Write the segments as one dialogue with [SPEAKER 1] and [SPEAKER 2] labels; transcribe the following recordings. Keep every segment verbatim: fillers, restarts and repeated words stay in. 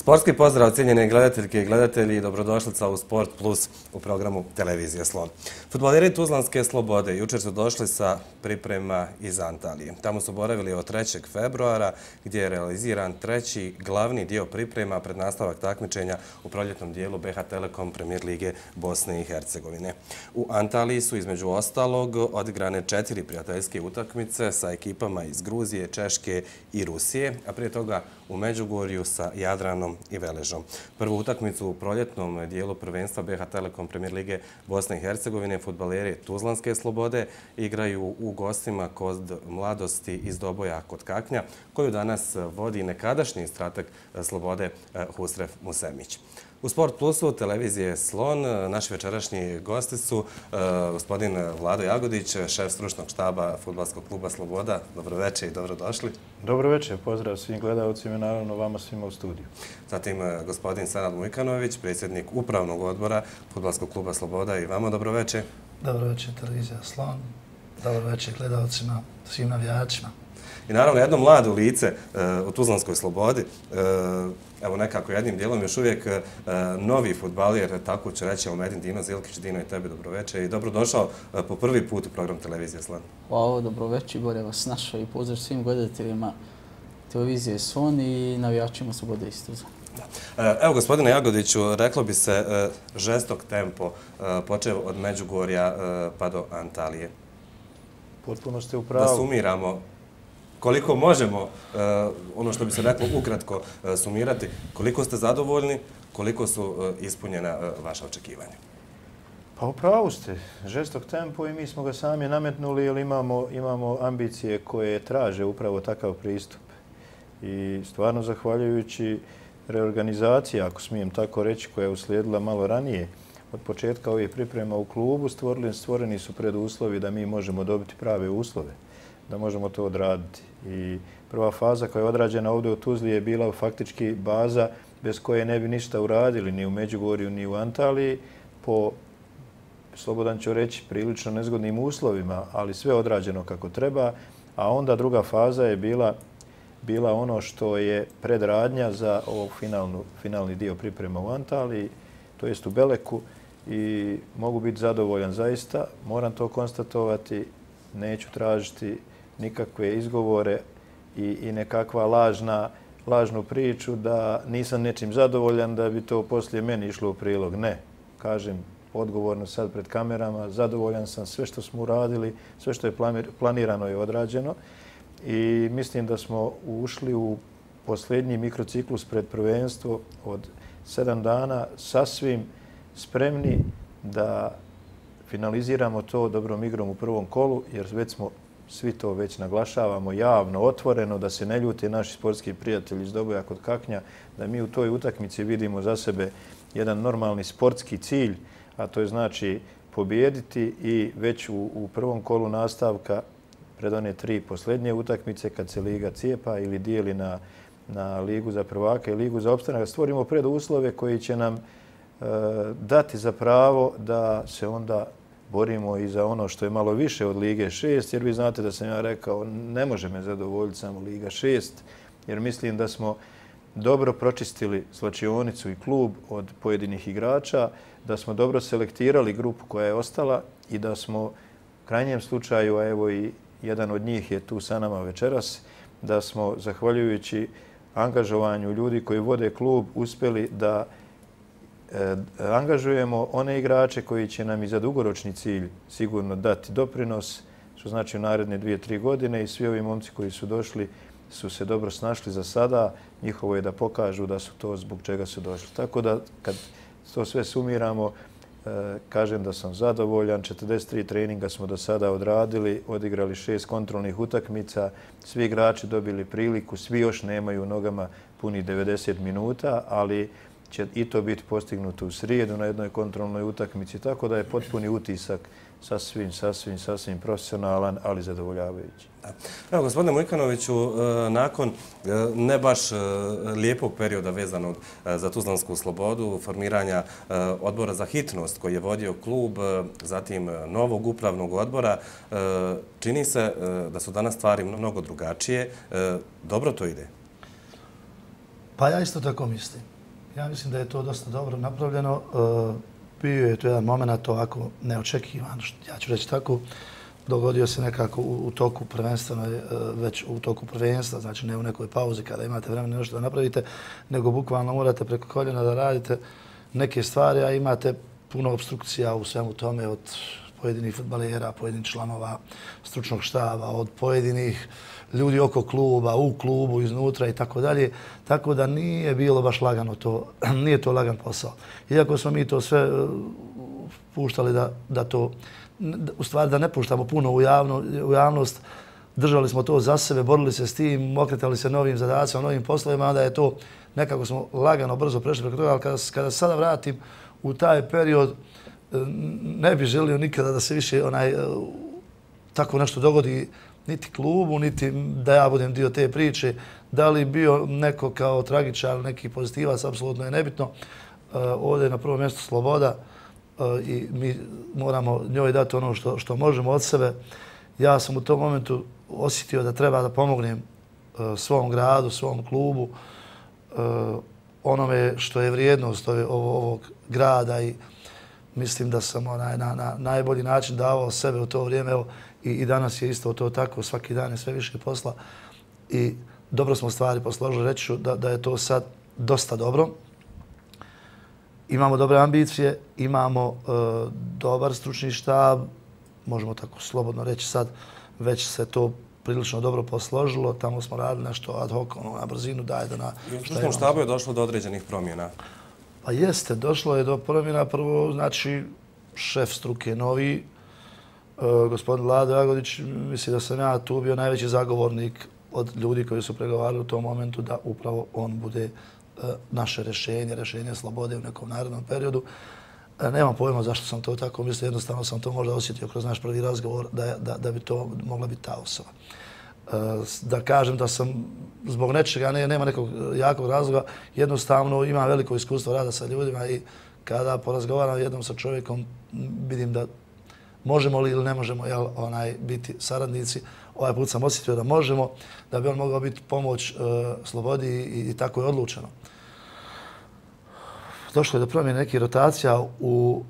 [SPEAKER 1] Sportski pozdrav, cijenjene gledateljke i gledatelji, dobrodošlica u Sport Plus u programu Televizije Slon. Fudbaleri Tuzlanske Slobode jučer su došli sa priprema iz Antalije. Tamo su boravili od trećeg februara gdje je realiziran treći glavni dio priprema pred nastavak takmičenja u proljetnom dijelu B H Telekom Premier lige Bosne i Hercegovine. U Antaliji su između ostalog odigrane četiri prijateljske utakmice sa ekipama iz Gruzije, Češke i Rusije, a prije toga u Međugorju sa Jadranom i Veležom. Prvu utakmicu u proljetnom dijelu prvenstva B H Telekom Premier lige Bosne i Hercegovine fudbaleri Tuzlanske Slobode igraju u gostima kod Mladosti iz Doboja kod Kaknja, koju danas vodi nekadašnji strateg Slobode Husrev Musemić. U Sport Plusu televizije Slon naši večerašnji gosti su gospodin Vlado Jagodić, šef stručnog štaba Fudbalskog kluba Sloboda. Dobroveče i dobrodošli.
[SPEAKER 2] Dobroveče, pozdrav svim gledalcima i naravno vama svima u studiju.
[SPEAKER 1] Zatim gospodin Senad Mujkanović, predsjednik upravnog odbora Fudbalskog kluba Sloboda i vama dobroveče.
[SPEAKER 3] Dobroveče televizija Slon, dobroveče gledalcima, svim navijačima.
[SPEAKER 1] I naravno jedno mlado lice u Tuzlanskoj Slobodi, evo nekako jednim dijelom još uvijek novi fudbaler, tako ću reći, Omedin Dino Zilkić. Dino, i tebi dobroveče i dobrodošao po prvi put u program Televizije Slon.
[SPEAKER 4] Hvala, dobroveče, bolje vas našao i pozdrav svim gledateljima Televizije Slon i navijačima Slobode iz Tuzla.
[SPEAKER 1] Evo, gospodine Jagodiću, reklo bi se žestok tempo, počeo od Međugorja pa do Antalije.
[SPEAKER 2] Potpuno ste u pravu.
[SPEAKER 1] Da sumiramo koliko možemo, ono što bi se reklo ukratko sumirati, koliko ste zadovoljni, koliko su ispunjena vaša očekivanja?
[SPEAKER 2] Pa u pravu ste. Žestok tempo i mi smo ga sami nametnuli jer imamo, imamo ambicije koje traže upravo takav pristup. I stvarno zahvaljujući reorganizaciji, ako smijem tako reći, koja je uslijedila malo ranije, od početka ovih priprema u klubu, stvorili, stvoreni su preduslovi da mi možemo dobiti prave uslove, da možemo to odraditi. I prva faza koja je odrađena ovdje u Tuzli je bila faktički baza bez koje ne bi ništa uradili ni u Međugorju ni u Antaliji po, slobodan ću reći, prilično nezgodnim uslovima, ali sve odrađeno kako treba. A onda druga faza je bila, bila ono što je predradnja za ovog finalnu, finalni dio priprema u Antaliji, to jest u Beleku, i mogu biti zadovoljan zaista. Moram to konstatovati, neću tražiti nikakve izgovore i, i nekakva lažna, lažnu priču da nisam nečim zadovoljan, da bi to poslije meni išlo u prilog. Ne, kažem odgovorno sad pred kamerama, zadovoljan sam, sve što smo uradili, sve što je planirano je odrađeno i mislim da smo ušli u posljednji mikrociklus pred prvenstvo od sedam dana sasvim spremni da finaliziramo to dobrom igrom u prvom kolu, jer već smo svi to već naglašavamo javno, otvoreno, da se ne ljute naši sportski prijatelji iz Doboja kod Kaknja, da mi u toj utakmici vidimo za sebe jedan normalni sportski cilj, a to je znači pobijediti i već u, u prvom kolu nastavka pred one tri posljednje utakmice kad se liga cijepa ili dijeli na, na ligu za prvaka i ligu za opstanak, stvorimo preduslove koji će nam e, dati za pravo da se onda borimo i za ono što je malo više od Lige šest, jer vi znate da sam ja rekao ne može me zadovoljiti samo Liga šest, jer mislim da smo dobro pročistili slačionicu i klub od pojedinih igrača, da smo dobro selektirali grupu koja je ostala i da smo u krajnjem slučaju, a evo i jedan od njih je tu sa nama večeras, da smo zahvaljujući angažovanju ljudi koji vode klub uspjeli da angažujemo one igrače koji će nam i za dugoročni cilj sigurno dati doprinos, što znači u naredne dvije, tri godine, i svi ovi momci koji su došli su se dobro snašli za sada. Njihovo je da pokažu da su to zbog čega su došli. Tako da kad to sve sumiramo, kažem da sam zadovoljan. četrdeset tri treninga smo do sada odradili, odigrali šest kontrolnih utakmica, svi igrači dobili priliku, svi još nemaju u nogama puni devedeset minuta, ali će i to biti postignuto u srijedu na jednoj kontrolnoj utakmici, tako da je potpuni utisak sasvim, sasvim, sasvim profesionalan, ali zadovoljavajući.
[SPEAKER 1] Evo, gospodine Mujkanoviću, nakon ne baš lijepog perioda vezanog za Tuzlansku Slobodu, formiranja odbora za hitnost koji je vodio klub, zatim novog upravnog odbora, čini se da su danas stvari mnogo drugačije. Dobro to ide?
[SPEAKER 3] Pa ja isto tako mislim. Ja mislim da je to dosta dobro napravljeno. Bio je to jedan moment ovako neočekivan, ja ću reći tako. Dogodio se nekako u, u toku prvenstveno, već u toku prvenstva, znači ne u nekoj pauzi kada imate vremena nešto da napravite, nego bukvalno morate preko koljena da radite neke stvari, a imate puno obstrukcija u svemu tome od pojedinih fudbalera, pojedinih članova stručnog štaba, od pojedinih ljudi oko kluba, u klubu, iznutra i tako dalje. Tako da nije bilo baš lagano to, nije to lagan posao. Iako smo mi to sve puštali da, da to, u stvari da ne puštamo puno u, javno, u javnost, držali smo to za sebe, borili se s tim, okretali se novim zadacima, novim poslovima, onda je to nekako smo lagano, brzo prešli preko toga, ali kada, kada sada vratim u taj period, ne bih želio nikada da se više onaj tako nešto dogodi niti klubu, niti da ja budem dio te priče. Da li bio neko kao tragičar, neki pozitivac, apsolutno je nebitno. Ovdje je na prvom mjestu sloboda i mi moramo njoj dati ono što, što možemo od sebe. Ja sam u tom momentu osjetio da treba da pomognem svom gradu, svom klubu, onome što je vrijednost ovog grada i mislim da sam onaj, na, na najbolji način davao sebe u to vrijeme. Evo, i, I danas je isto to tako, svaki dan je sve više posla i dobro smo stvari posložili. Reći ću da, da je to sad dosta dobro. Imamo dobre ambicije, imamo e, dobar stručni štab, možemo tako slobodno reći sad, već se to prilično dobro posložilo. Tamo smo radili nešto ad hoc, ono, na brzinu, daj da na...
[SPEAKER 1] I u stručnom štabu je došlo do određenih promjena.
[SPEAKER 3] Pa jeste, došlo je do promjena. Prvo, znači, šef struke novi, e, gospodin Vlado Jagodić, misli da sam ja tu bio najveći zagovornik od ljudi koji su pregovarali u tom momentu da upravo on bude e, naše rješenje, rješenje slobode u nekom narednom periodu. E, nemam pojma zašto sam to tako mislio, jednostavno sam to možda osjetio kroz naš prvi razgovor da, da, da bi to mogla biti ta osoba. Da kažem da sam zbog nečega, ne, nema nekog jakog razloga, jednostavno imam veliko iskustvo rada sa ljudima i kada porazgovaram jednom sa čovjekom vidim da možemo li ili ne možemo jel, onaj, biti saradnici. Ovaj put sam osjetio da možemo, da bi on mogao biti pomoć uh, slobodi i, i tako je odlučeno. Došlo je do promjene nekih rotacija u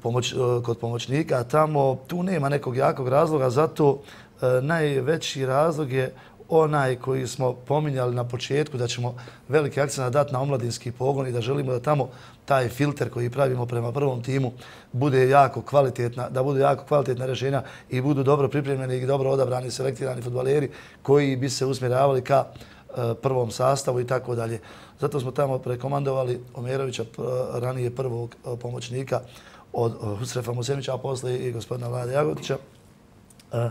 [SPEAKER 3] Pomoć, kod pomoćnika, tamo tu nema nekog jakog razloga, zato e, najveći razlog je onaj koji smo pominjali na početku, da ćemo veliki akcent dati na omladinski pogon i da želimo da tamo taj filter koji pravimo prema prvom timu bude jako kvalitetna, da budu jako kvalitetna rješenja i budu dobro pripremljeni i dobro odabrani, selektirani fudbaleri koji bi se usmjeravali ka e, prvom sastavu i tako dalje. Zato smo tamo prekomandovali Omerovića, ranije prvog pomoćnika, od Husrefa Musemića, a posle i gospodina Vlade Jagodića. E,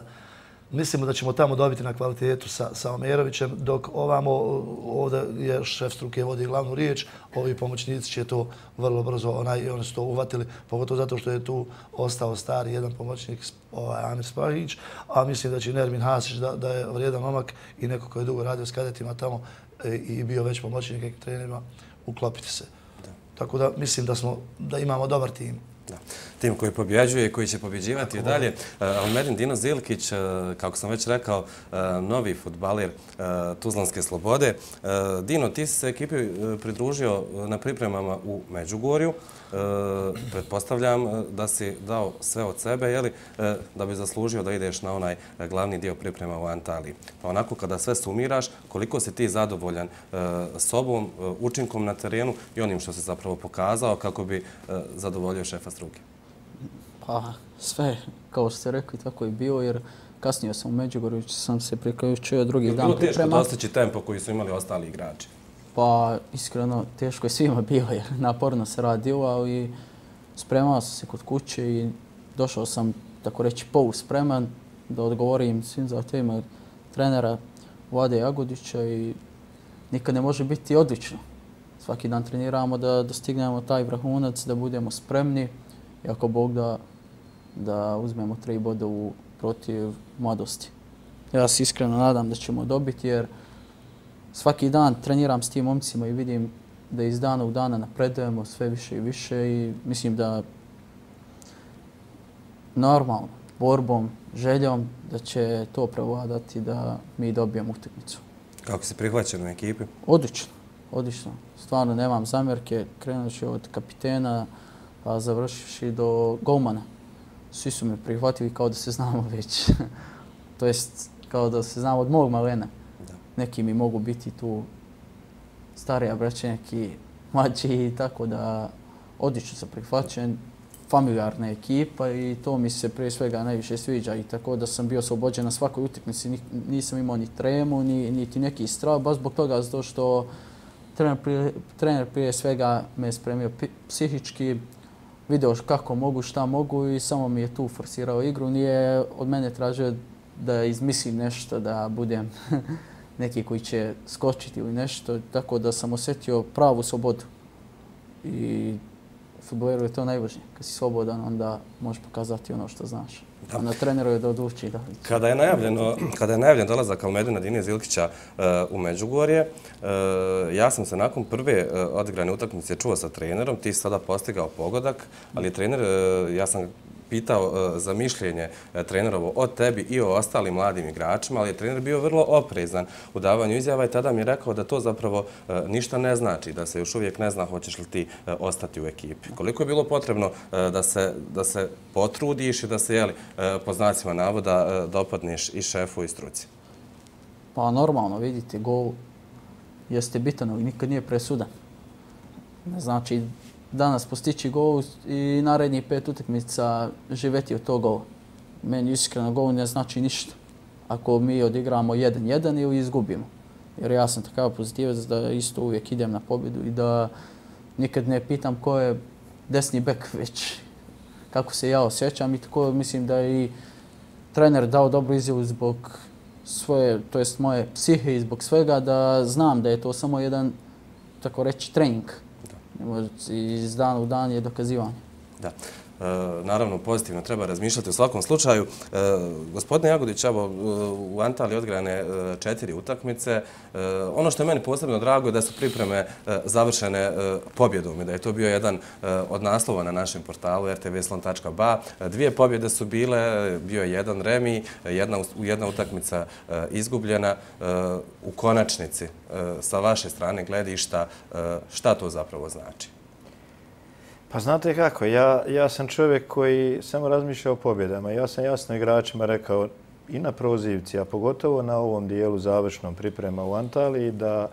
[SPEAKER 3] mislimo da ćemo tamo dobiti na kvalitetu sa, sa Omerovićem, dok ovamo, ovdje je šef struke vodi glavnu riječ, ovi pomoćnici će to vrlo brzo, onaj, oni su to uvatili, pogotovo zato što je tu ostao stari jedan pomoćnik, ovaj, Amir Spahić, a mislim da će Nermin Hasić, da, da je vrijedan momak i neko koji je dugo radio s kadetima tamo e, i bio već pomoćnik nekim trenerima, uklopiti se. Da. Tako da mislim da, smo, da imamo dobar tim.
[SPEAKER 1] Da. Tim koji pobjeđuje i koji će pobjeđivati i dalje. Almerin Dino Zilkić, kako sam već rekao, novi fudbaler Tuzlanske Slobode. Dino, ti si se ekipi pridružio na pripremama u Međugorju. Pretpostavljam da si dao sve od sebe, jeli, da bi zaslužio da ideš na onaj glavni dio priprema u Antaliji. Pa onako kada sve sumiraš, koliko si ti zadovoljan sobom, učinkom na terenu i onim što si zapravo pokazao kako bi zadovoljio šefa struke?
[SPEAKER 4] Pa sve, kao ste rekli, tako je bilo, jer kasnije sam u Međugorju, sam se priključio drugi dan priprema.
[SPEAKER 1] Bilo teško dostići tempo koji su imali ostali igrači?
[SPEAKER 4] Pa iskreno, teško je svima bilo, jer naporno se radilo, ali spremao sam se kod kuće i došao sam, tako reći, poluspreman da odgovorim svim zahtjevima trenera Vlade Jagodića i nikad ne može biti odlično. Svaki dan treniramo da dostignemo taj vrhunac, da budemo spremni i ako Bog da, da uzmemo tri boda u protiv Mladosti. Ja se iskreno nadam da ćemo dobiti jer svaki dan treniram s tim momcima i vidim da iz dana u dana napredujemo sve više i više i mislim da normalno, borbom, željom da će to prevladati da mi dobijemo utakmicu.
[SPEAKER 1] Kako si prihvaćen u ekipi?
[SPEAKER 4] Odlično. odlično. Stvarno nemam zamjerke. Krenući od kapitena, a završivši do golmana. Svi su me prihvatili kao da se znamo već. To jest kao da se znamo od mog malena. Da. Neki mi mogu biti tu starija braća, neki mlađi, tako da odlično sam prihvaćen. Familijarna ekipa i to mi se prije svega najviše sviđa i tako da sam bio oslobođen na svakoj utakmici. Nisam imao ni tremu, ni, niti neki strah, baš zbog toga zato što trener prije, trener prije svega me spremio psihički, video kako mogu, šta mogu i samo mi je tu forsirao igru. Nije od mene tražio da izmislim nešto, da budem neki koji će skočiti ili nešto, tako da sam osjetio pravu slobodu. I u fudbaleru je to najvažnije. Kad si slobodan, onda možeš pokazati ono što znaš. Da. A na treneru je da odluči. Da.
[SPEAKER 1] Kada je najavljeno, kada je najavljen dolazak Almedina Dinija Zilkića uh, u Međugorje, uh, ja sam se nakon prve uh, odigrane utakmice čuo sa trenerom, ti si sada postigao pogodak, ali je trener, uh, ja sam pitao uh, za mišljenje uh, trenerovo o tebi i o ostalim mladim igračima, ali je trener bio vrlo oprezan u davanju izjava i tada mi je rekao da to zapravo uh, ništa ne znači, da se još uvijek ne zna hoćeš li ti uh, ostati u ekipi. Koliko je bilo potrebno uh, da, se, da se potrudiš i da se, jeli, uh, po znacima navoda uh, dopadneš i šefu i struci?
[SPEAKER 4] Pa normalno, vidite, gol jeste bitan, ali nikad nije presudan. Ne znači danas postići gol i narednih pet utakmica živeti od tog gola. Meni iskreno gol ne znači ništa. Ako mi odigramo jedan jedan ili izgubimo. Jer ja sam takav pozitivac da isto uvijek idem na pobjedu i da nikad ne pitam ko je desni bek, već kako se ja osjećam i tako mislim da je i trener dao dobru izjavu zbog svoje, to jest moje psihe i zbog svega, da znam da je to samo jedan, tako reći, trening. Iz dana u dan je dokazivanje.
[SPEAKER 1] Da. E, naravno, pozitivno treba razmišljati u svakom slučaju. E, gospodine Jagodić, evo, u Antaliji odgrane četiri utakmice. E, ono što je meni posebno drago je da su pripreme e, završene e, pobjedom i da je to bio jedan e, od naslova na našem portalu er te ve slon tačka ba. Dvije pobjede su bile, bio je jedan remi, jedna, jedna utakmica e, izgubljena. E, u konačnici, e, sa vaše strane gledišta, e, šta to zapravo znači?
[SPEAKER 2] Pa znate kako, ja, ja sam čovjek koji samo razmišlja o pobjedama. Ja sam jasno igračima rekao i na prozivci, a pogotovo na ovom dijelu završnom priprema u Antaliji, da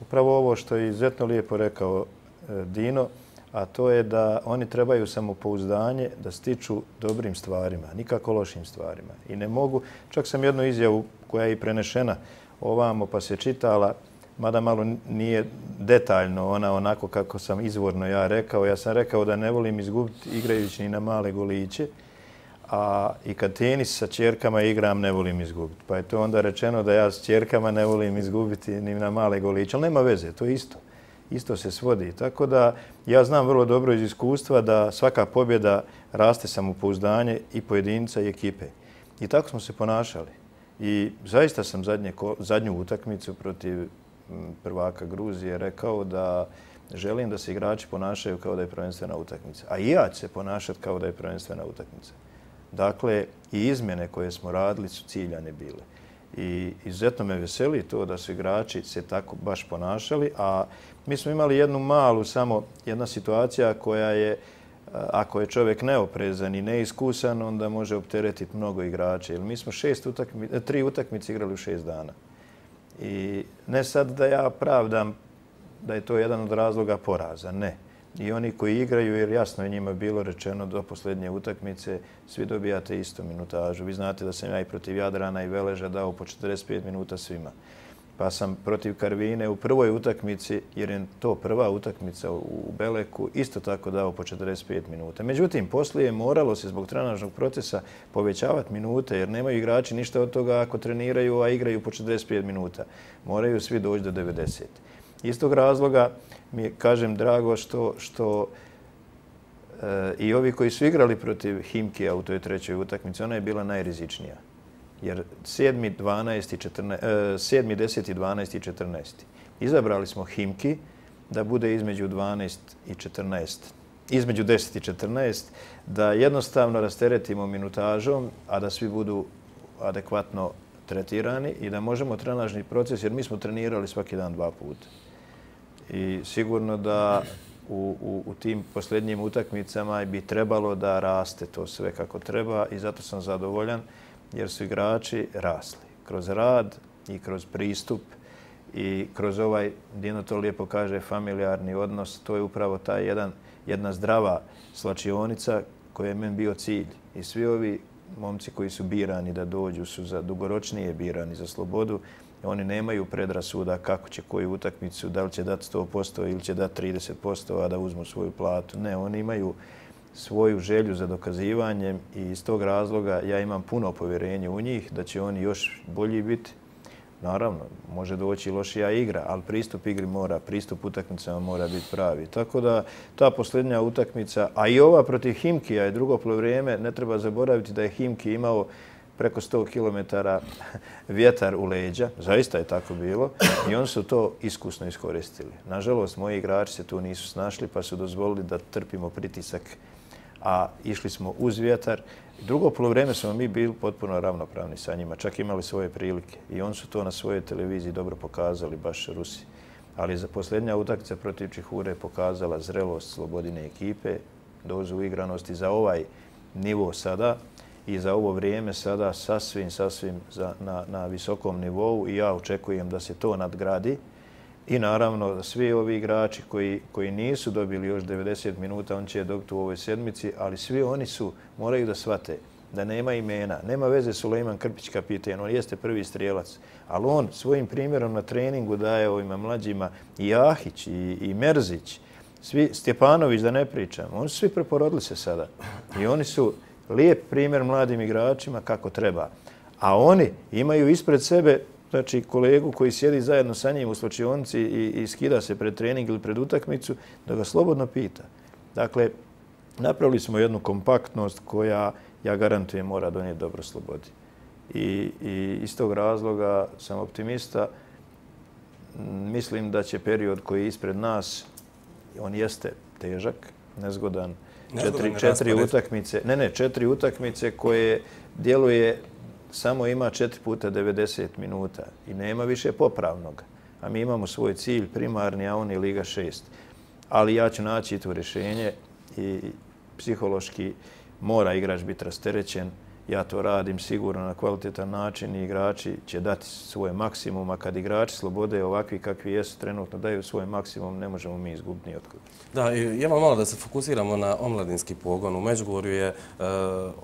[SPEAKER 2] upravo ovo što je izuzetno lijepo rekao Dino, a to je da oni trebaju samopouzdanje da stiču dobrim stvarima, nikako lošim stvarima. I ne mogu, čak sam jednu izjavu koja je i prenešena ovamo pa se čitala, mada malo nije detaljno ona onako kako sam izvorno ja rekao. Ja sam rekao da ne volim izgubiti igrajući ni na male goliće, a i kad tenis sa ćerkama igram ne volim izgubiti. Pa je to onda rečeno da ja s ćerkama ne volim izgubiti ni na male goliće, ali nema veze, to je isto. Isto se svodi. Tako da ja znam vrlo dobro iz iskustva da svaka pobjeda raste samopouzdanje i pojedinca i ekipe. I tako smo se ponašali. I zaista sam zadnje, zadnju utakmicu protiv prvaka Gruzije rekao da želim da se igrači ponašaju kao da je prvenstvena utakmica. A i ja ću se ponašati kao da je prvenstvena utakmica. Dakle, i izmjene koje smo radili su ciljane bile. I izuzetno me veseli to da su igrači se tako baš ponašali, a mi smo imali jednu malu, samo jedna situacija koja je, ako je čovjek neoprezan i neiskusan, onda može opteretiti mnogo igrača. Jer mi smo šest utakmice, tri utakmice igrali u šest dana. I ne sad da ja pravdam da je to jedan od razloga poraza, ne. I oni koji igraju, jer jasno je njima bilo rečeno do posljednje utakmice, svi dobijate istu minutažu. Vi znate da sam ja i protiv Jadrana i Veleža dao po četrdeset pet minuta svima. Pa sam protiv Karvine u prvoj utakmici, jer je to prva utakmica u Beleku, isto tako dao po četrdeset pet minuta. Međutim, poslije moralo se zbog trenažnog procesa povećavati minute, jer nemaju igrači ništa od toga ako treniraju, a igraju po četrdeset pet minuta. Moraju svi doći do devedeset. Iz tog razloga mi je, kažem, drago što, što e, i ovi koji su igrali protiv Himkija u toj trećoj utakmici, ona je bila najrizičnija. Jer sedmi, deseti, dvanaesti i četrnaesti. Izabrali smo Himki da bude između dvanaest i četrnaest. Između deset i četrnaest, da jednostavno rasteretimo minutažom, a da svi budu adekvatno tretirani i da možemo trenažni proces, jer mi smo trenirali svaki dan dva puta. I sigurno da u, u, u tim posljednjim utakmicama bi trebalo da raste to sve kako treba i zato sam zadovoljan jer su igrači rasli. Kroz rad i kroz pristup i kroz ovaj, Dino to lijepo kaže, familijarni odnos, to je upravo taj jedan, jedna zdrava slačionica koja je meni bio cilj. I svi ovi momci koji su birani da dođu su za dugoročnije birani za slobodu. Oni nemaju predrasuda kako će koju utakmicu, da li će dati sto posto ili će dati trideset posto, a da uzmu svoju platu. Ne, oni imaju svoju želju za dokazivanjem i iz tog razloga ja imam puno povjerenje u njih da će oni još bolji biti. Naravno, može doći lošija igra, ali pristup igri mora, pristup utakmicama mora biti pravi. Tako da ta posljednja utakmica, a i ova protiv Himkija je drugo poluvreme, ne treba zaboraviti da je Himki imao preko sto kilometara vjetar u leđa. Zaista je tako bilo i oni su to iskusno iskoristili. Nažalost, moji igrači se tu nisu snašli pa su dozvolili da trpimo pritisak, a išli smo uz vjetar. Drugo poluvreme smo mi bili potpuno ravnopravni sa njima, čak imali svoje prilike i oni su to na svojoj televiziji dobro pokazali, baš Rusi. Ali za posljednja utakmica protiv Čihure je pokazala zrelost Slobodine ekipe, dozu igranosti za ovaj nivo sada i za ovo vrijeme sada sasvim, sasvim za, na, na visokom nivou i ja očekujem da se to nadgradi. I naravno, svi ovi igrači koji, koji nisu dobili još devedeset minuta, on će je dobiti u ovoj sedmici, ali svi oni su, moraju da shvate da nema imena. Nema veze Sulejman Krpić kapiten, on jeste prvi strijelac, ali on svojim primjerom na treningu daje ovima mlađima i Jahić, i, i Merzić, svi, Stjepanović da ne pričam, oni su svi preporodili se sada. I oni su lijep primjer mladim igračima kako treba. A oni imaju ispred sebe znači kolegu koji sjedi zajedno sa njim u slačionici i, i skida se pred trening ili pred utakmicu, da ga slobodno pita. Dakle, napravili smo jednu kompaktnost koja, ja garantujem, mora donijeti dobro Slobodi. I, i iz tog razloga sam optimista. Mislim da će period koji je ispred nas, on jeste težak, nezgodan, četiri, četiri utakmice, ne, ne, četiri utakmice koje djeluje samo ima četiri puta devedeset minuta i nema više popravnog. A mi imamo svoj cilj primarni, a on je Liga šest. Ali ja ću naći to rješenje i psihološki mora igrač biti rasterećen. Ja to radim sigurno na kvalitetan način i igrači će dati svoj maksimum, a kad igrači Slobode ovakvi kakvi jesu trenutno daju svoj maksimum, ne možemo mi izgubiti ni otkud.
[SPEAKER 1] Da, i evo malo da se fokusiramo na omladinski pogon. U Međugorju je e,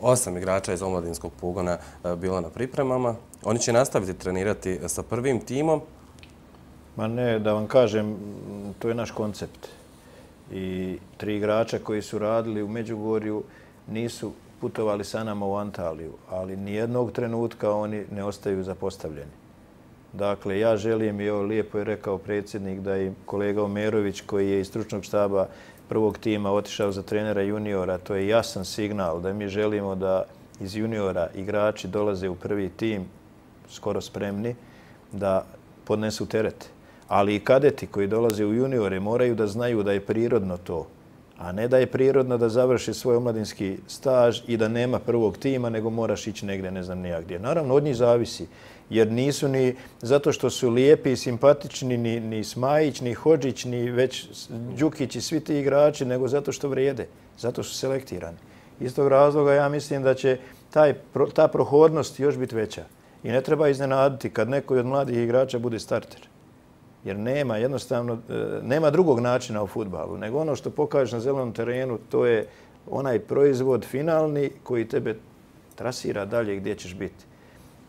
[SPEAKER 1] osam igrača iz omladinskog pogona e, bilo na pripremama. Oni će nastaviti trenirati sa prvim timom.
[SPEAKER 2] Ma ne, da vam kažem, to je naš koncept. I tri igrača koji su radili u Međugorju nisu putovali sa nama u Antaliju, ali nijednog trenutka oni ne ostaju zapostavljeni. Dakle, ja želim, i ovo lijepo je rekao predsjednik, da i kolega Omerović koji je iz stručnog štaba prvog tima otišao za trenera juniora, to je jasan signal da mi želimo da iz juniora igrači dolaze u prvi tim skoro spremni da podnesu teret. Ali i kadeti koji dolaze u juniore moraju da znaju da je prirodno to, a ne da je prirodno da završi svoj omladinski staž i da nema prvog tima, nego moraš ići negdje, ne znam nijak gdje. Naravno, od njih zavisi, jer nisu ni zato što su lijepi i simpatični ni, ni Smajić, ni Hodžić, ni već Đukić i svi ti igrači, nego zato što vrijede, zato su selektirani. Iz tog razloga ja mislim da će taj, ta prohodnost još biti veća. I ne treba iznenaditi kad neko od mladih igrača bude starter. Jer nema jednostavno, nema drugog načina u fudbalu, nego ono što pokažeš na zelenom terenu, to je onaj proizvod finalni koji tebe trasira dalje gdje ćeš biti.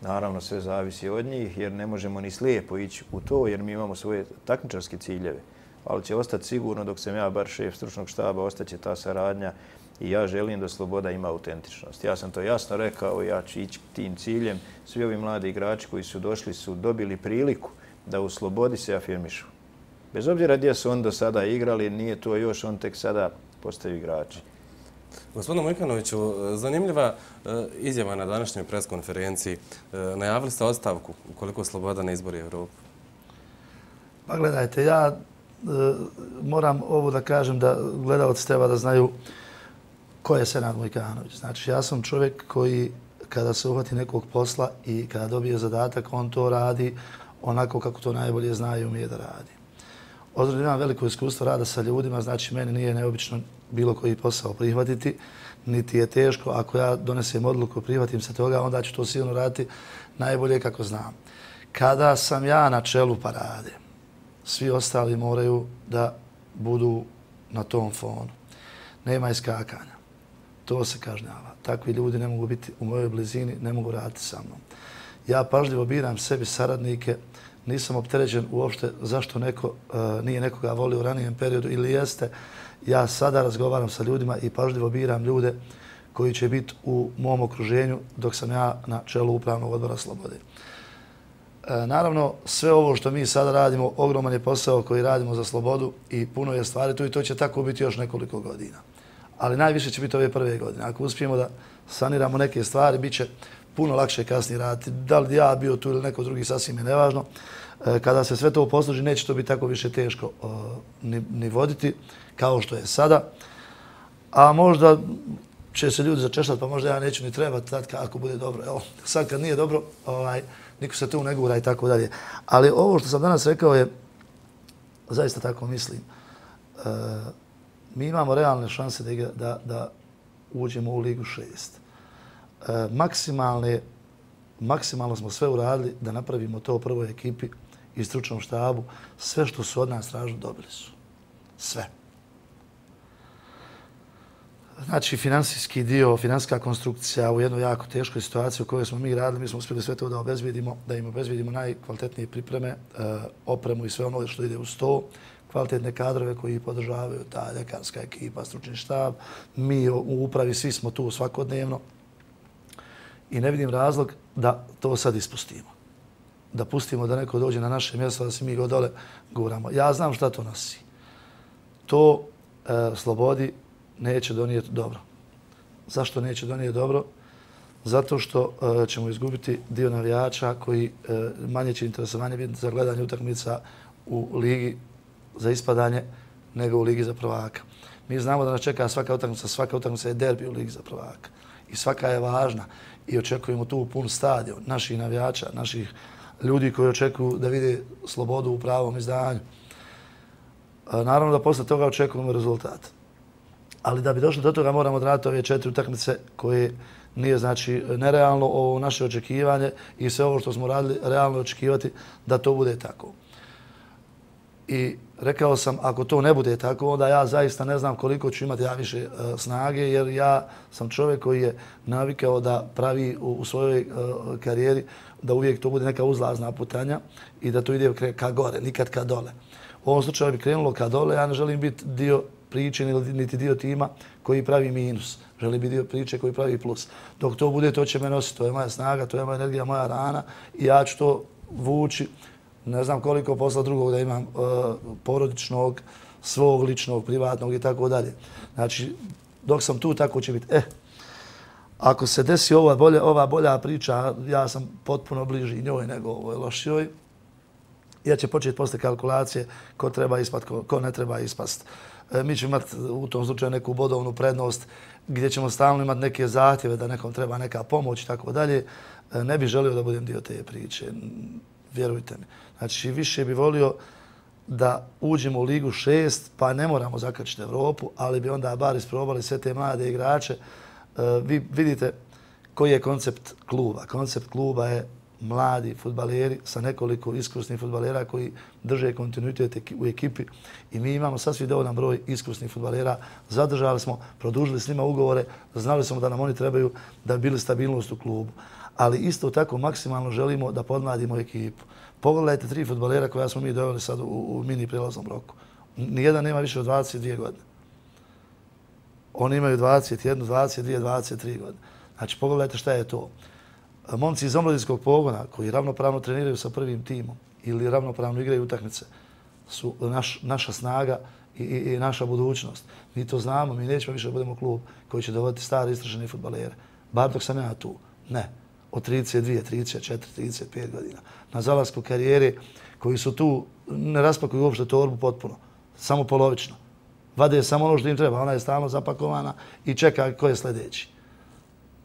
[SPEAKER 2] Naravno, sve zavisi od njih, jer ne možemo ni slijepo ići u to, jer mi imamo svoje takmičarske ciljeve. Ali će ostati sigurno, dok sam ja bar šef stručnog štaba, ostaće ta saradnja i ja želim da Sloboda ima autentičnost. Ja sam to jasno rekao, ja ću ići tim ciljem. Svi ovi mladi igrači koji su došli su dobili priliku da u Slobodi se afirmišu. Bez obzira gdje su oni do sada igrali, nije to još, on tek sada postaju igrači.
[SPEAKER 1] Gospodine Mojkanoviću, zanimljiva izjava na današnjoj preskonferenciji. Najavili ste ostavku ukoliko Sloboda ne izbori Evropu.
[SPEAKER 3] Pa gledajte, ja e, moram ovo da kažem da gledalci treba da znaju ko je Senad Mojkanović. Znači, ja sam čovjek koji kada se uhvati nekog posla i kada dobije zadatak, on to radi onako kako to najbolje zna i umije da radi. Ozbiljno imam veliko iskustvo rada sa ljudima, znači meni nije neobično bilo koji posao prihvatiti, niti je teško. Ako ja donesem odluku, prihvatim se toga, onda ću to sigurno raditi najbolje kako znam. Kada sam ja na čelu parade, svi ostali moraju da budu na tom fonu. Nema iskakanja. To se kažnjava. Takvi ljudi ne mogu biti u mojoj blizini, ne mogu raditi sa mnom. Ja pažljivo biram sebi saradnike, nisam opterećen uopšte zašto neko uh, nije nekoga volio u ranijem periodu ili jeste. Ja sada razgovaram sa ljudima i pažljivo biram ljude koji će biti u mom okruženju dok sam ja na čelu Upravnog odbora Slobode. E, naravno, sve ovo što mi sada radimo, ogroman je posao koji radimo za Slobodu i puno je stvari tu i to će tako biti još nekoliko godina. Ali najviše će biti ove prve godine. Ako uspijemo da saniramo neke stvari, bit će puno lakše kasnije raditi. Da li ja bio tu ili neko drugi, sasvim je nevažno. E, kada se sve to posloži, neće to biti tako više teško uh, ni, ni voditi kao što je sada. A možda će se ljudi začešati, pa možda ja neću ni trebati tad ako bude dobro. Evo, sad kad nije dobro, ovaj, niko se tu ne gura i tako dalje. Ali ovo što sam danas rekao je, zaista tako mislim, e, mi imamo realne šanse da, igra, da, da uđemo u Ligu šest. E, maksimalne, maksimalno smo sve uradili da napravimo to prvoj ekipi i stručnom štabu. Sve što su od nas tražili, dobili su. Sve. Znači, finansijski dio, finansijska konstrukcija u jednoj jako teškoj situaciji u kojoj smo mi radili, mi smo uspjeli sve to da obezbijedimo, da im obezbijedimo najkvalitetnije pripreme, e, opremu i sve ono što ide uz to, kvalitetne kadrove koji podržavaju, ta ljekarska ekipa, stručni štab, mi u upravi, svi smo tu svakodnevno i ne vidim razlog da to sad ispustimo. Da pustimo da neko dođe na naše mjesto, da se mi go dole guramo. Ja znam šta to nosi. To e, Slobodi neće donijeti dobro. Zašto neće donijeti dobro? Zato što uh, ćemo izgubiti dio navijača koji uh, manje će interesovanje biti za gledanje utakmica u ligi za ispadanje nego u ligi za prvaka. Mi znamo da nas čeka svaka utakmica, svaka utakmica je derbi u ligi za prvaka. I svaka je važna i očekujemo tu pun stadion naših navijača, naših ljudi koji očekuju da vide Slobodu u pravom izdanju. Uh, naravno da posle toga očekujemo rezultat. Ali da bi došli do toga moramo odraditi ove četiri utakmice koje nije znači nerealno ovo naše očekivanje i sve ovo što smo radili realno očekivati da to bude tako. I rekao sam, ako to ne bude tako, onda ja zaista ne znam koliko ću imati ja više uh, snage, jer ja sam čovjek koji je navikao da pravi u, u svojoj uh, karijeri da uvijek to bude neka uzlazna putanja i da to ide ka gore, nikad ka dole. U ovom slučaju bi krenulo ka dole, ja ne želim biti dio priče niti dio tima koji pravi minus. Želim biti dio priče koji pravi plus. Dok to bude, to će me nositi. To je moja snaga, to je moja energija, moja rana i ja ću to vući. Ne znam koliko posla drugog da imam uh, porodičnog, svog ličnog, privatnog i tako dalje. Znači, dok sam tu, tako će biti. Eh, ako se desi ova bolja, ova bolja priča, ja sam potpuno bliži njoj nego ovoj lošijoj. Ja će početi posle kalkulacije ko treba ispast, ko, ko ne treba ispast. E, mi ćemo imati u tom slučaju neku bodovnu prednost gdje ćemo stalno imati neke zahtjeve da nekom treba neka pomoć i tako dalje. E, ne bih želio da budem dio te priče, vjerujte mi. Znači, više bih volio da uđemo u Ligu šest, pa ne moramo zakačiti Evropu, ali bi onda bar isprobali sve te mlade igrače. E, vi vidite koji je koncept kluba. Koncept kluba je mladi fudbaleri sa nekoliko iskusnih fudbalera koji drže kontinuitet u ekipi i mi imamo sasvim dovoljan broj iskusnih fudbalera. Zadržali smo, produžili s njima ugovore, znali smo da nam oni trebaju da bi bili stabilnost u klubu. Ali isto tako maksimalno želimo da podmladimo ekipu. Pogledajte tri fudbalera koja smo mi doveli sad u, u mini prijelaznom roku. Nijedan nema više od dvadeset dvije godine. Oni imaju dvadeset jedan, dvadeset dvije, dvadeset tri godine. Znači pogledajte šta je to. Momci iz omladinskog pogona koji ravnopravno treniraju sa prvim timom ili ravnopravno igraju utakmice su naš, naša snaga i, i, i naša budućnost. Mi to znamo, mi nećemo više da budemo klub koji će dovoditi stare istražene fudbalere. Bar dok sam ja tu. Ne. Od trideset dvije, trideset četiri, trideset pet godina. Na zalasku karijere koji su tu ne raspakuju uopšte torbu potpuno. Samo polovično. Vade samo ono što im treba. Ona je stalno zapakovana i čeka ko je sljedeći.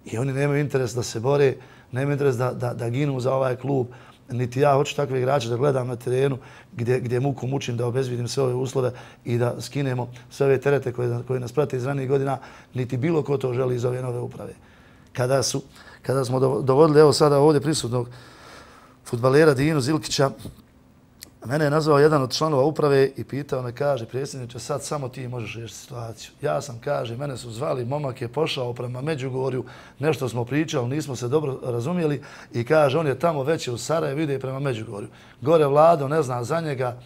[SPEAKER 3] I oni nemaju interes da se bore, nemaju interes da, da, da ginu za ovaj klub. niti ja hoću takve igrače da gledam na terenu gdje, gdje muku mučim da obezvidim sve ove uslove i da skinemo sve ove terete koje, koje nas prate iz ranijih godina, niti bilo ko to želi iz ove nove uprave. Kada, su, kada smo dovodili, evo sada ovdje prisutnog fudbalera Dinu Zilkića, mene je nazvao jedan od članova uprave i pitao me, kaže, predsjedniče, sad samo ti možeš riješiti situaciju. Ja sam, kaže, mene su zvali, momak je pošao prema Međugorju, nešto smo pričali, nismo se dobro razumjeli i kaže, on je tamo već u Sarajevu, ide prema Međugorju. Gore Vlado, ne zna za njega,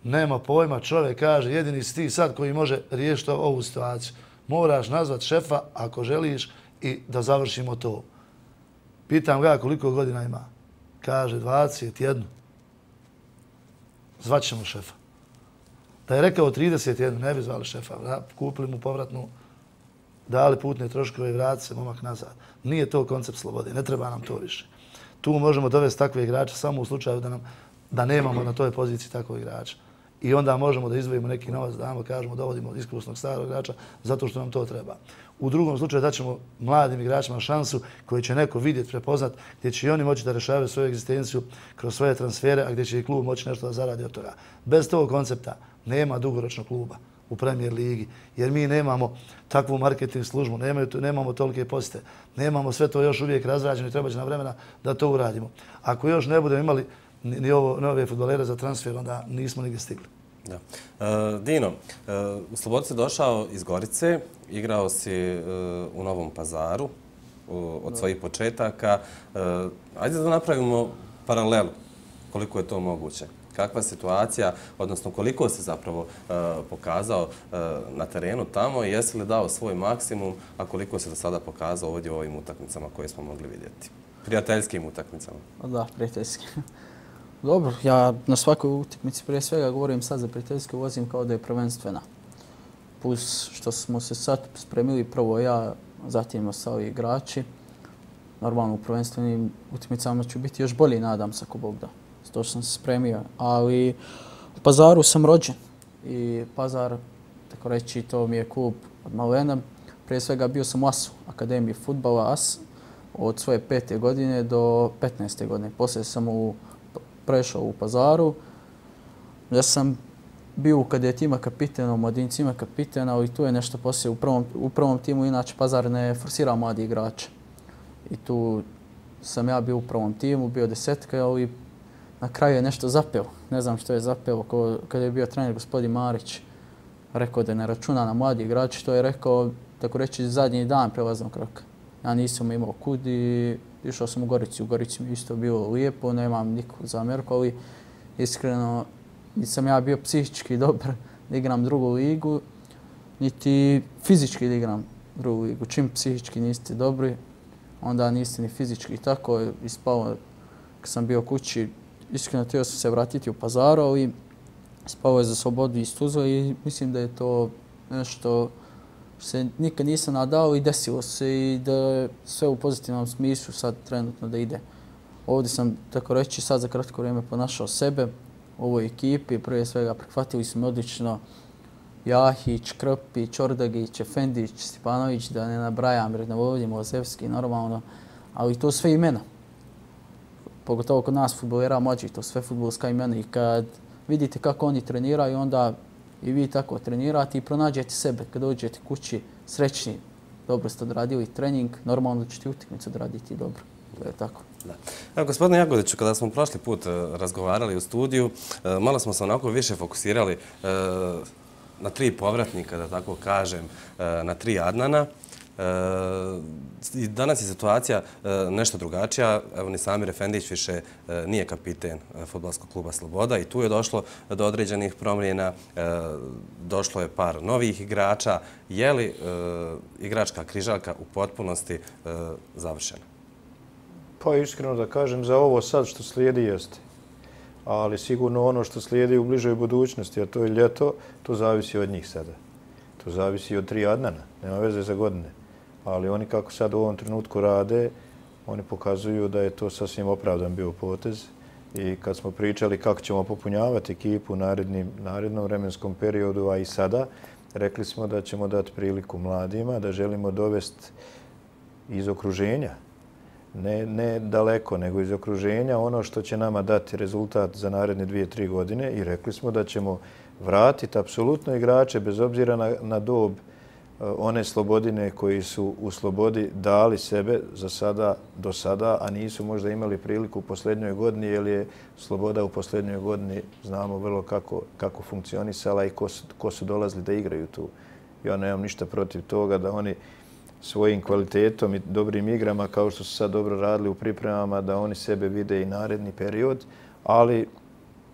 [SPEAKER 3] nema pojma, čovjek kaže, jedini si ti sad koji može riješiti ovu situaciju. Moraš nazvat šefa ako želiš i da završimo to. Pitam ga koliko godina ima. Kaže, dvadeset jedan. Zvaćemo šefa. Da je rekao trideset jedan, ne bi zvali šefa. Kupili mu povratnu, dali putne troškove i vrati se momak nazad. Nije to koncept slobode, ne treba nam to više. Tu možemo dovesti takve igrače samo u slučaju da, nam, da nemamo na toj poziciji takvog igrača. I onda možemo da izdvojimo neki novac, da damo, kažemo, dovodimo iskusnog starog igrača zato što nam to treba. U drugom slučaju daćemo mladim igračima šansu koji će neko vidjeti, prepoznat, gdje će i oni moći da rešavaju svoju egzistenciju kroz svoje transfere, a gdje će i klub moći nešto da zaradi od toga. Bez tog koncepta nema dugoročnog kluba u Premier ligi, jer mi nemamo takvu marketing službu, nemaju, nemamo tolike posete, nemamo sve to još uvijek razrađeno i treba će nam vremena da to uradimo. Ako još ne budemo imali ni ovo nove fudbalere za transfer, onda nismo nigdje stigli.
[SPEAKER 1] Da. E, Dino, e, u Slobodu si došao iz Gorice, igrao si e, u Novom Pazaru u, od svojih početaka. E, ajde da napravimo paralelu, koliko je to moguće. Kakva situacija, odnosno koliko si zapravo e, pokazao e, na terenu tamo i jesi li dao svoj maksimum, a koliko si do sada pokazao ovdje u ovim utakmicama koje smo mogli vidjeti? Prijateljskim utakmicama.
[SPEAKER 4] Da, prijateljskim. Dobro, ja na svakoj utakmici prije svega govorim sad za prijateljske, vozim kao da je prvenstvena. Plus što smo se sad spremili prvo ja, zatim ostali igrači. Normalno u prvenstvenim utakmicama ću biti još bolji, nadam se ako Bog da. To što sam se spremio. Ali u Pazaru sam rođen i Pazar, tako reći, to mi je klub od malena. Prije svega bio sam u A S U, Akademiji fudbala A S, od svoje pete godine do petnaeste godine. Poslije sam u prešao u Pazaru. Ja sam bio u kadetima kapitena, u mladincima kapitena, ali tu je nešto poslije. U prvom, u prvom timu inače Pazar ne forsira mladi igrače. I tu sam ja bio u prvom timu, bio desetka, ali na kraju je nešto zapeo. Ne znam što je zapeo. Kada je bio trener gospodin Marić, rekao da ne računa na mladi igrači, to je rekao, tako reći, zadnji dan prelaznog roka. Ja nisam imao kud i išao sam u Gorici. U Gorici mi isto bilo lijepo, nemam nikog zamjerku, ali iskreno nisam ja bio psihički dobar da igram drugu ligu, niti fizički da igram drugu ligu. Čim psihički niste dobri, onda niste ni fizički. Tako je ispalo kad sam bio kući. Iskreno htio sam se vratiti u Pazaru, ali spao je za Slobodu iz Tuzle i mislim da je to nešto se nikad nisam nadao i desilo se i da je sve u pozitivnom smislu sad trenutno da ide. Ovdje sam, tako reći, sad za kratko vrijeme ponašao sebe u ovoj ekipi. Prije svega prihvatili su me odlično Jahić, Krpić, Ordagić, Efendić, Stipanović, da ne nabrajam, jer ne volim Ozevski, normalno, ali to sve imena. Pogotovo kod nas fudbalera mlađi, to sve fudbalska imena i kad vidite kako oni treniraju, onda i vi tako trenirate i pronađete sebe. Kad dođete kući srećni, dobro ste odradili trening, normalno da ćete utakmicu odraditi dobro. To je tako.
[SPEAKER 1] Da. Evo, gospodine Jagodiću, kada smo prošli put razgovarali u studiju, malo smo se onako više fokusirali na tri povratnika, da tako kažem, na tri Adnana. I danas je situacija nešto drugačija. Evo, ni Samir Efendić više nije kapiten fudbalskog kluba Sloboda i tu je došlo do određenih promjena. Došlo je par novih igrača. Je li igračka križaljka u potpunosti završena?
[SPEAKER 2] Pa iskreno da kažem, za ovo sad što slijedi jeste. Ali sigurno ono što slijedi u bližoj budućnosti, a to je ljeto, to zavisi od njih sada. To zavisi od tri Adnana, nema veze za godine. Ali oni kako sad u ovom trenutku rade, oni pokazuju da je to sasvim opravdan bio potez. I kad smo pričali kako ćemo popunjavati ekipu u narednim, narednom vremenskom periodu, a i sada, rekli smo da ćemo dati priliku mladima, da želimo dovesti iz okruženja ne, ne daleko, nego iz okruženja, ono što će nama dati rezultat za naredne dvije, tri godine i rekli smo da ćemo vratiti apsolutno igrače bez obzira na, na dob one Slobodine koji su u Slobodi dali sebe za sada, do sada, a nisu možda imali priliku u posljednjoj godini, jer je Sloboda u posljednjoj godini, znamo vrlo kako, kako funkcionisala i ko su, ko su dolazili da igraju tu. Ja nemam ništa protiv toga da oni svojim kvalitetom i dobrim igrama, kao što su sad dobro radili u pripremama, da oni sebe vide i naredni period, ali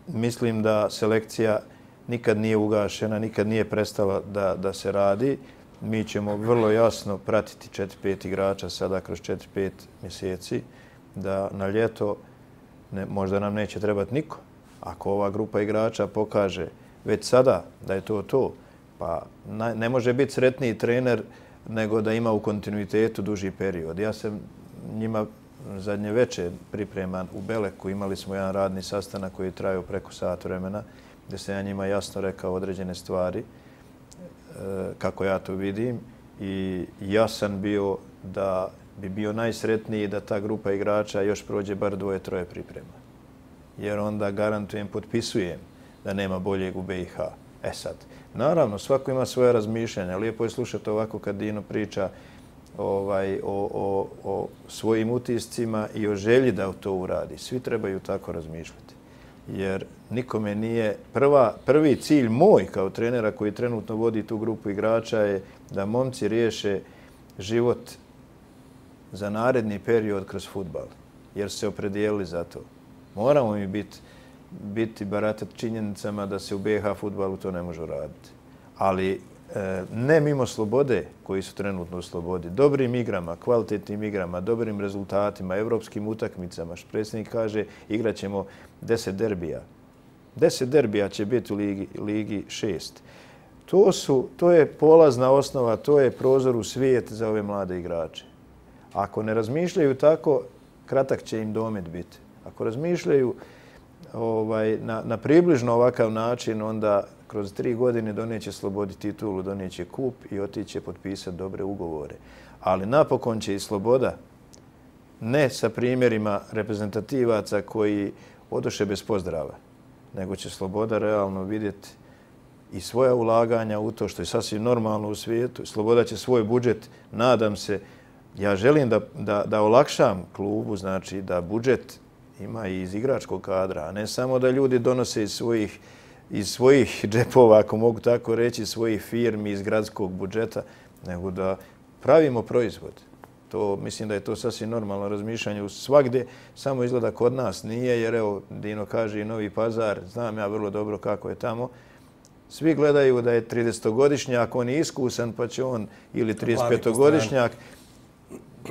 [SPEAKER 2] mislim da selekcija nikad nije ugašena, nikad nije prestala da, da se radi. Mi ćemo vrlo jasno pratiti četiri pet igrača sada kroz četiri pet mjeseci, da na ljeto ne, možda nam neće trebati niko. Ako ova grupa igrača pokaže već sada da je to to, pa na, ne može biti sretniji trener nego da ima u kontinuitetu duži period. Ja sam njima zadnje večer pripreman u Beleku, imali smo jedan radni sastanak koji je trajao preko sat vremena, gdje sam ja njima jasno rekao određene stvari, kako ja to vidim, i ja sam bio da bi bio najsretniji da ta grupa igrača još prođe bar dvoje, troje priprema. Jer onda garantujem, potpisujem da nema boljeg u B i H. E sad, naravno, svako ima svoje razmišljanja. Lijepo je slušati ovako kad Dino priča ovaj, o, o, o svojim utiscima i o želji da to uradi. Svi trebaju tako razmišljati. Jer nikome nije... Prva, prvi cilj moj kao trenera koji trenutno vodi tu grupu igrača je da momci riješe život za naredni period kroz fudbal. Jer su se opredijelili za to. Moramo mi biti, biti baratati činjenicama da se u B i H fudbalu to ne može raditi. Ali e, ne mimo Slobode koji su trenutno u Slobodi. Dobrim igrama, kvalitetnim igrama, dobrim rezultatima, evropskim utakmicama. Što predsjednik kaže, igrat ćemo deset derbija. Deset derbija će biti u ligi, ligi šest. To, su, to je polazna osnova, to je prozor u svijet za ove mlade igrače. Ako ne razmišljaju tako, kratak će im domet biti. Ako razmišljaju ovaj, na, na približno ovakav način, onda kroz tri godine donijeće Slobodi titulu, donijeće kup i otiće potpisati dobre ugovore. Ali napokon će i Sloboda, ne sa primjerima reprezentativaca koji odoše bez pozdrava, nego će Sloboda realno vidjeti i svoja ulaganja u to što je sasvim normalno u svijetu. Sloboda će svoj budžet, nadam se, ja želim da, da, da olakšam klubu, znači da budžet ima i iz igračkog kadra, a ne samo da ljudi donose iz svojih, iz svojih džepova, ako mogu tako reći, svojih firmi, iz gradskog budžeta, nego da pravimo proizvod. To, mislim da je to sasvim normalno razmišljanje svagdje, samo izgleda kod nas nije, jer evo, Dino kaže i Novi Pazar, znam ja vrlo dobro kako je tamo. Svi gledaju da je tridesetogodišnjak, on je iskusan, pa će on, ili tridesetpetogodišnjak,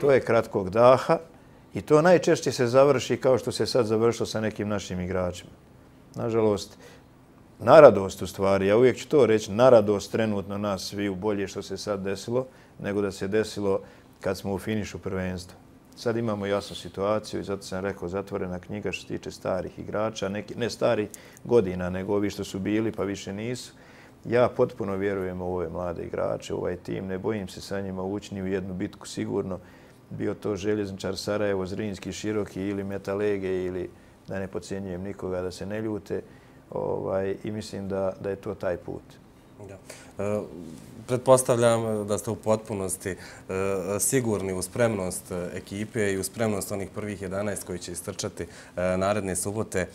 [SPEAKER 2] to je kratkog daha i to najčešće se završi kao što se sad završilo sa nekim našim igračima. Nažalost, na radost u stvari, ja uvijek ću to reći, na radost trenutno nas sviju bolje što se sad desilo, nego da se desilo kad smo u finišu prvenstva. Sad imamo jasnu situaciju i zato sam rekao zatvorena knjiga što se tiče starih igrača, neki, ne starih godina, nego ovi što su bili pa više nisu. Ja potpuno vjerujem u ove mlade igrače, u ovaj tim, ne bojim se sa njima ući ni u jednu bitku sigurno. Bio to Željezničar Sarajevo, Zrinski, Široki ili Metalege ili da ne podcjenjujem nikoga da se ne ljute. Ovaj, I mislim da, da je to taj put.
[SPEAKER 1] Da. E, pretpostavljam da ste u potpunosti e, sigurni u spremnost ekipe i u spremnost onih prvih jedanaest koji će istrčati e, naredne subote e,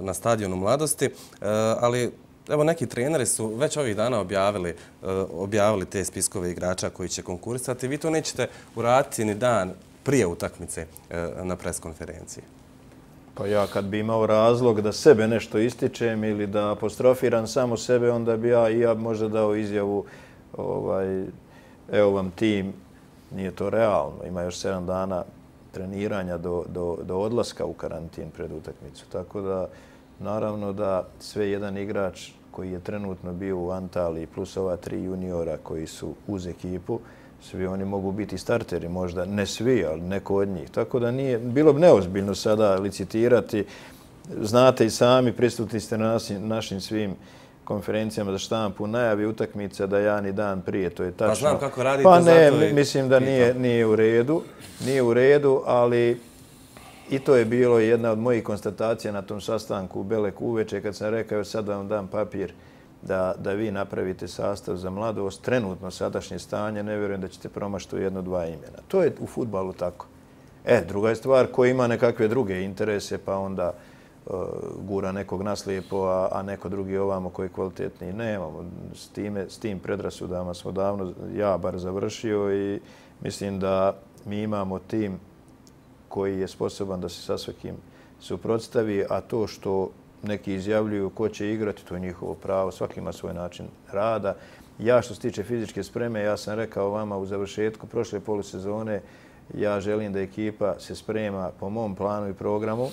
[SPEAKER 1] na stadionu Mladosti, e, ali evo neki treneri su već ovih dana objavili, e, objavili te spiskove igrača koji će konkurisati. Vi to nećete uraditi ni dan prije utakmice e, na preskonferenciji.
[SPEAKER 2] Pa ja kad bi imao razlog da sebe nešto ističem ili da apostrofiram samo sebe, onda bi ja i ja možda dao izjavu ovaj, evo vam tim, nije to realno. Ima još sedam dana treniranja do, do, do odlaska u karantin pred utakmicu. Tako da, naravno da sve jedan igrač koji je trenutno bio u Antaliji plus ova tri juniora koji su uz ekipu, svi oni mogu biti starteri, možda ne svi, ali neko od njih. Tako da nije, bilo bi neozbiljno sada licitirati. Znate i sami, prisutni ste na našim, našim svim konferencijama za štampu najavi utakmica da ja ni dan prije, to je tačno.
[SPEAKER 1] Pa znam kako radite,
[SPEAKER 2] pa ne,
[SPEAKER 1] zato i
[SPEAKER 2] mislim da nije, nije u redu, nije u redu, ali i to je bilo jedna od mojih konstatacija na tom sastanku u Beleku uveče kad sam rekao još sad vam dam papir da, da vi napravite sastav za mladost. Trenutno sadašnje stanje, ne vjerujem da ćete promašiti jedno, dva imena. To je u fudbalu tako. E, druga je stvar ko ima nekakve druge interese pa onda uh, gura nekog naslijepo, a, a neko drugi ovamo koji je kvalitetniji. Nemamo. S, time, s tim predrasudama smo davno, ja bar završio i mislim da mi imamo tim koji je sposoban da se sa svakim suprotstavi, a to što neki izjavljuju ko će igrati, to je njihovo pravo, svaki ima svoj način rada. Ja što se tiče fizičke spreme, ja sam rekao vama u završetku prošle polusezone, ja želim da ekipa se sprema po mom planu i programu.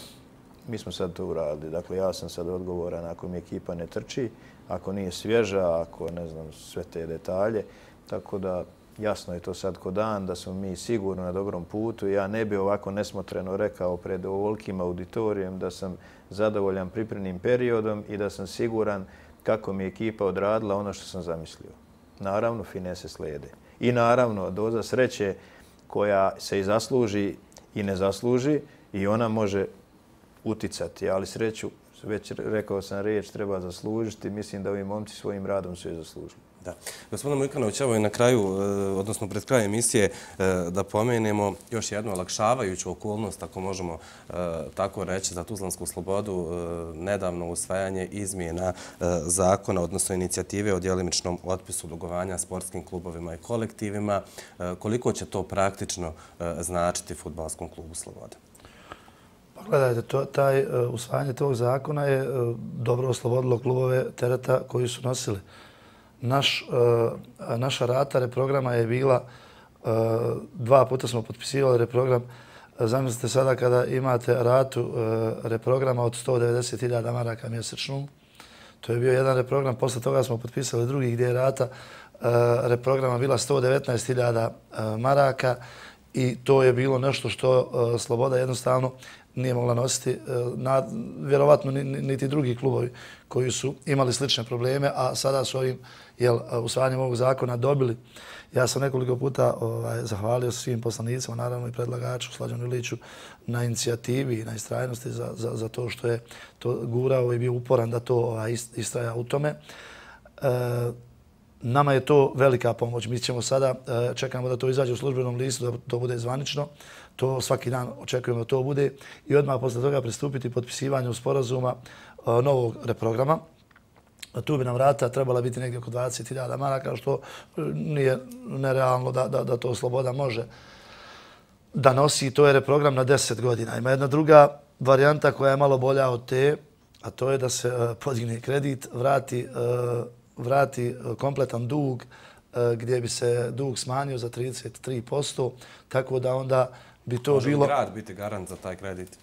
[SPEAKER 2] Mi smo sad to uradili. Dakle, ja sam sad odgovoran ako mi ekipa ne trči, ako nije svježa, ako ne znam sve te detalje. Tako da jasno je to sad ko dan da smo mi sigurno na dobrom putu. Ja ne bi ovako nesmotreno rekao pred ovolikim auditorijem da sam zadovoljan pripremnim periodom i da sam siguran kako mi je ekipa odradila ono što sam zamislio. Naravno, finese slijede. I naravno, doza sreće koja se i zasluži i ne zasluži i ona može uticati, ali sreću, već rekao sam riječ, treba zaslužiti. Mislim da ovi momci svojim radom su je zaslužili.
[SPEAKER 1] Da. Gospodine Mujkanović, evo i na kraju, odnosno pred krajem emisije, da pomenemo još jednu olakšavajuću okolnost, ako možemo tako reći, za Tuzlansku slobodu, nedavno usvajanje izmjena zakona, odnosno inicijative o djelimičnom otpisu dugovanja sportskim klubovima i kolektivima. Koliko će to praktično značiti fudbalskom klubu Sloboda?
[SPEAKER 3] Pa gledajte, to, taj, usvajanje tog zakona je dobro oslobodilo klubove tereta koji su nosili. Naš, uh, naša rata reprograma je bila, uh, dva puta smo potpisivali reprogram. Zamislite sada kada imate ratu uh, reprograma od sto devedeset hiljada maraka mjesečno. To je bio jedan reprogram, posle toga smo potpisali drugi gdje je rata uh, reprograma bila sto devetnaest hiljada uh, maraka i to je bilo nešto što uh, Sloboda jednostavno nije mogla nositi, na, vjerovatno niti drugi klubovi koji su imali slične probleme, a sada su ovim jel, usvajanjem ovog zakona dobili. Ja sam nekoliko puta ovaj, zahvalio svim poslanicima, naravno i predlagaču Slađanu Iliću na inicijativi i na istrajnosti za, za, za to što je to gurao i bio uporan da to ovaj, istraja u tome. E, nama je to velika pomoć. Mi ćemo sada, čekamo da to izađe u službenom listu, da to bude zvanično. To svaki dan očekujemo da to bude i odmah posle toga pristupiti potpisivanju sporazuma novog reprograma. Tu bi nam vrata trebala biti negdje oko dvadeset hiljada maraka, što nije nerealno da, da, da to Sloboda može da nosi. To je reprogram na deset godina. Ima jedna druga varijanta koja je malo bolja od te, a to je da se podigne kredit, vrati, vrati kompletan dug, gdje bi se dug smanjio za trideset tri posto, tako da onda bi to
[SPEAKER 1] Može
[SPEAKER 3] bilo...
[SPEAKER 1] Može li grad biti garant za taj kredit?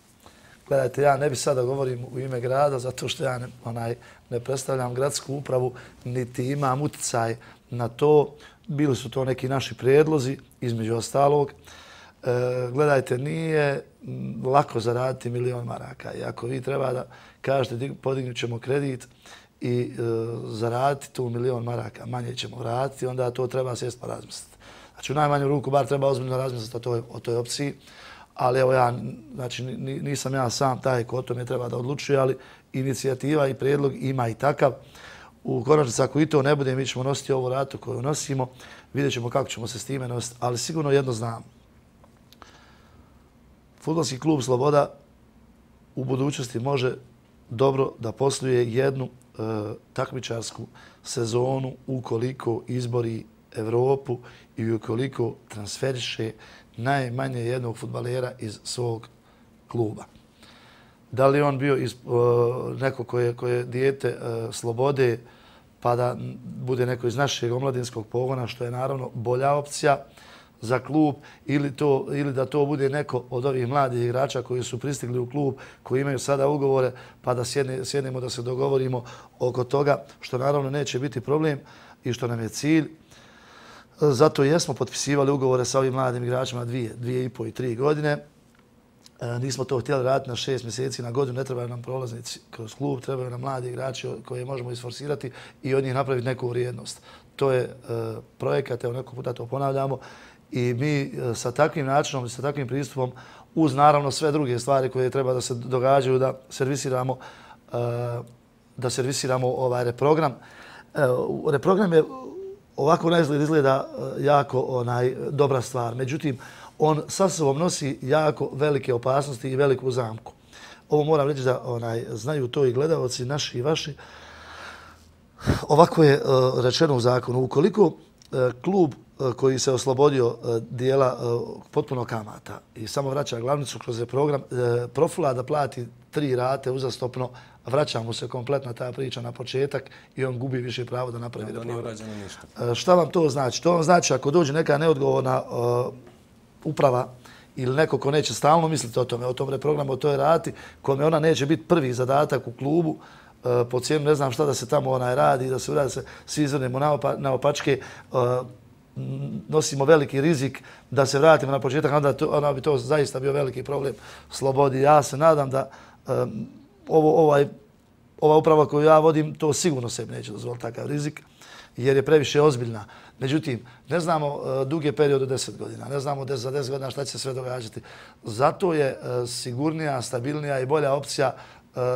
[SPEAKER 3] Gledajte, ja ne bi sada govorim u ime grada, zato što ja ne, onaj, ne predstavljam gradsku upravu, niti imam uticaj na to. Bili su to neki naši prijedlozi, između ostalog. E, gledajte, nije lako zaraditi milion maraka. I ako vi treba da kažete podignut ćemo kredit i e, zaraditi tu milion maraka, manje ćemo vratiti, onda to treba sjesti pa razmisliti. Znači, u najmanju ruku bar treba ozbiljno razmisliti o toj, o toj opciji. Ali evo ja, znači nisam ja sam taj ko o tome treba da odlučuje, ali inicijativa i prijedlog ima i takav. U konačnici, ako i to ne bude, mi ćemo nositi ovu ratu koju nosimo, vidjet ćemo kako ćemo se s time nositi, ali sigurno jedno znam. Fudbalski klub Sloboda u budućnosti može dobro da posluje jednu e, takmičarsku sezonu ukoliko izbori Evropu i ukoliko transferiše najmanje jednog fudbalera iz svog kluba. Da li on bio iz, uh, neko koje, koje dijete uh, Slobode, pa da bude neko iz našeg omladinskog pogona, što je naravno bolja opcija za klub, ili, to, ili da to bude neko od ovih mladih igrača koji su pristigli u klub, koji imaju sada ugovore, pa da sjedne, sjednemo da se dogovorimo oko toga, što naravno neće biti problem i što nam je cilj. Zato jesmo potpisivali ugovore sa ovim mladim igračima dvije, dvije i po i tri godine. Nismo to htjeli raditi na šest mjeseci, na godinu, ne trebaju nam prolaznici kroz klub, trebaju nam mladi igrači koje možemo isforsirati i od njih napraviti neku vrijednost. To je projekat, evo neko puta to ponavljamo i mi sa takvim načinom i sa takvim pristupom, uz naravno sve druge stvari koje treba da se događaju, da servisiramo, da servisiramo ovaj reprogram. Reprogram je ovako na izgled izgleda jako onaj, dobra stvar, međutim, on sa sobom nosi jako velike opasnosti i veliku zamku. Ovo moram reći da onaj, znaju to i gledalci naši i vaši. Ovako je uh, rečeno u zakonu. Ukoliko uh, klub uh, koji se oslobodio uh, dijela uh, potpuno kamata i samo vraća glavnicu kroz program, uh, profula da plati tri rate uzastopno, vraća mu se kompletna ta priča na početak i on gubi više pravo da napravi
[SPEAKER 1] reprogram. Da nije urađeno ništa.
[SPEAKER 3] Uh, šta vam to znači? To vam znači ako dođe neka neodgovorna uh, uprava ili neko ko neće stalno misliti o tome, o tom reprogramu, o toj rati, kome ona neće biti prvi zadatak u klubu, po cijenu ne znam šta da se tamo onaj radi, da se uradi, se svi izvrnemo na opačke, nosimo veliki rizik da se vratimo na početak, onda, to, onda bi to zaista bio veliki problem slobodi. Ja se nadam da um, ovo, ovaj, ova uprava koju ja vodim, to sigurno sebi neće dozvoliti takav rizik, jer je previše ozbiljna. Međutim, ne znamo uh, duge period od deset godina, ne znamo des, za deset godina šta će se sve događati. Zato je uh, sigurnija, stabilnija i bolja opcija